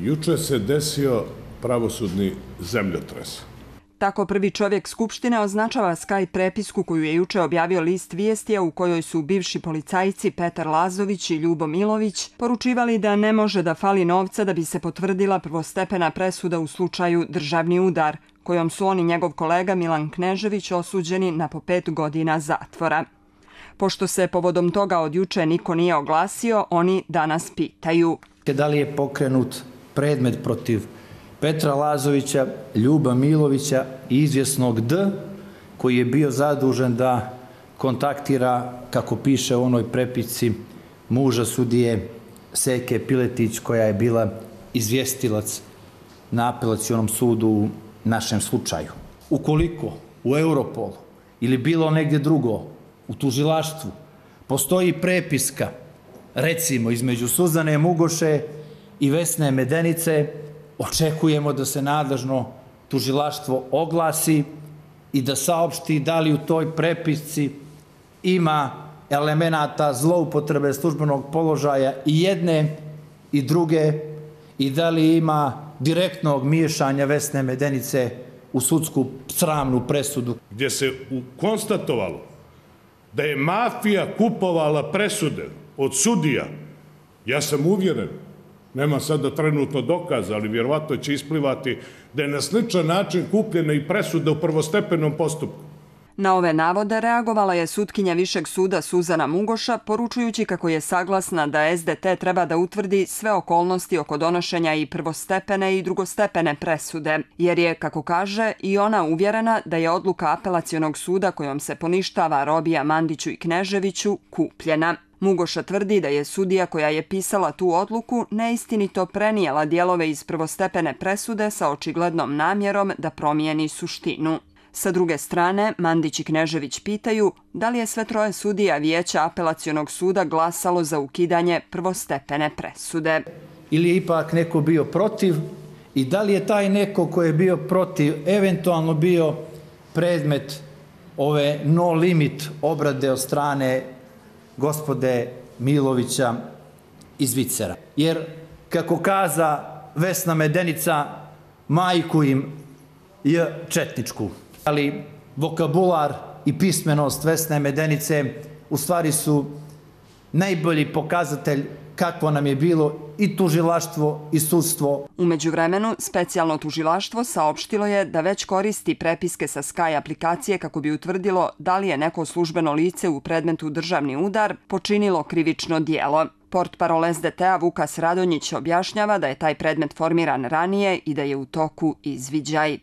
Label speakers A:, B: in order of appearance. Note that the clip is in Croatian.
A: Juče se desio pravosudni zemljotres.
B: Tako prvi čovjek Skupštine označava Skype prepisku koju je juče objavio list Vijesti, u kojoj su bivši policajci Petar Lazović i Ljubo Milović poručivali da ne može da fali novca da bi se potvrdila prvostepena presuda u slučaju državni udar, kojom su on i njegov kolega Milan Knežević osuđeni na po 5 godina zatvora. Pošto se povodom toga od juče niko nije oglasio, oni danas pitaju:
C: da li je pokrenut predmet protiv Petra Lazovića, Ljuba Milovića i izvjesnog D, koji je bio zadužen da kontaktira, kako piše u onoj prepisci, muža sudije Seke Piletić, koja je bila izvjestilac na apelacionom sudu u našem slučaju. Ukoliko u Europolu ili bilo negdje drugo u tužilaštvu postoji prepiska, recimo između Suzane Mugoše i Vesne Medenice, očekujemo da se nadležno tužilaštvo oglasi i da saopšti da li u toj prepisci ima elemenata zloupotrebe službenog položaja i jedne i druge i da li ima direktnog miješanja Vesne Medenice u sudsku sramnu presudu.
A: Gdje se konstatovalo da je mafija kupovala presude od sudija, ja sam uvjeren, nema sada trenutno dokaza, ali vjerovatno će isplivati da je na sličan način kupljena i presuda u prvostepenom postupku.
B: Na ove navode reagovala je sutkinja Višeg suda Suzana Mugoša, poručujući kako je saglasna da SDT treba da utvrdi sve okolnosti oko donošenja i prvostepene i drugostepene presude, jer je, kako kaže, i ona uvjerena da je odluka apelacionog suda kojom se poništava robija Mandiću i Kneževiću kupljena. Mugoša tvrdi da je sudija koja je pisala tu odluku neistinito prenijela dijelove iz prvostepene presude sa očiglednom namjerom da promijeni suštinu. Sa druge strane, Mandić i Knežević pitaju da li je sve troje sudija Vijeća apelacionog suda glasalo za ukidanje prvostepene presude.
C: Ili je ipak neko bio protiv i da li je taj neko ko je bio protiv eventualno bio predmet ove no limit obrade od strane gospode Milovića iz Vicera. Jer, kako kaza Vesna Medenica, majku im je četničku. Ali vokabular i pismenost Vesne Medenice u stvari su najbolji pokazatelj kakvo nam je bilo i tužilaštvo i sudstvo.
B: U međuvremenu, specijalno tužilaštvo saopštilo je da već koristi prepiske sa Sky aplikacije kako bi utvrdilo da li je neko službeno lice u predmetu državni udar počinilo krivično djelo. Portparol SDT-a Vukas Radonjić objašnjava da je taj predmet formiran ranije i da je u toku izviđaj.